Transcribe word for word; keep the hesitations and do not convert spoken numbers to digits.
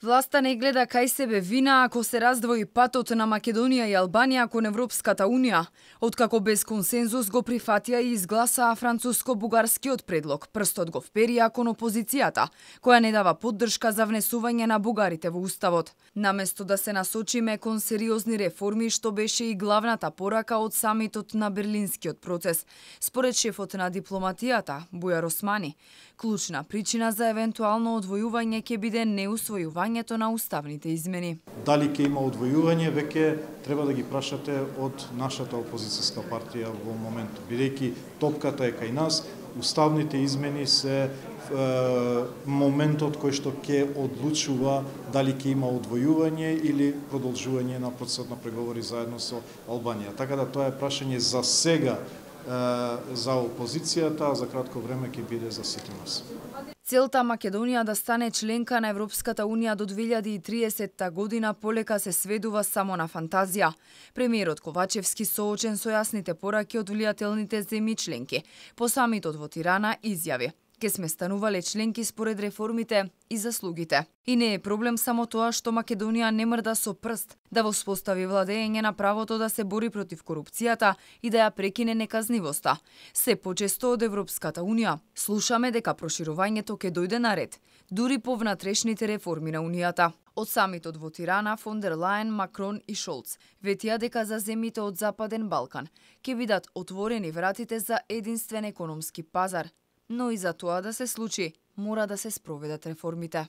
Власта не гледа кај себе вина ако се раздвои патот на Македонија и Албанија кон Европската Унија, откако без консензус го прифатија и изгласаа француско-бугарскиот предлог. Прстот го вперија кон опозицијата, која не дава поддршка за внесување на бугарите во уставот. Наместо да се насочиме кон сериозни реформи, што беше и главната порака од самитот на Берлинскиот процес, според шефот на дипломатијата Бујар Османи, клучна причина за евентуално одвојување ќе биде неусвојување на уставните измени. Дали ќе има одвојување, веќе треба да ги прашате од нашата опозицијска партија во моментот. Бидејќи топката е кај нас, уставните измени се е, моментот кој што ќе одлучува дали ќе има одвојување или продолжување на процесот на преговори заедно со Албанија. Така да тоа е прашање за сега е, за опозицијата, а за кратко време ќе биде за сите нас. Целта Македонија да стане членка на Европската Унија до две илјади и триесетта година полека се сведува само на фантазија. Премиерот Ковачевски, соочен со јасните пораки од влијателните земји членки, по самитот во Тирана изјави: "Ке сме станувале членки според реформите и заслугите. И не е проблем само тоа што Македонија не мрда со прст да воспостави владење на правото да се бори против корупцијата и да ја прекине неказнивоста. Се почесто од Европската Унија слушаме дека проширувањето ќе дојде на ред, дури по внатрешните реформи на Унијата." Од самитот во Тирана, фон дер Лајен, Макрон и Шолц ветија дека за земјите од Западен Балкан ќе бидат отворени вратите за единствен економски пазар. Но и за тоа да се случи, мора да се спроведат реформите.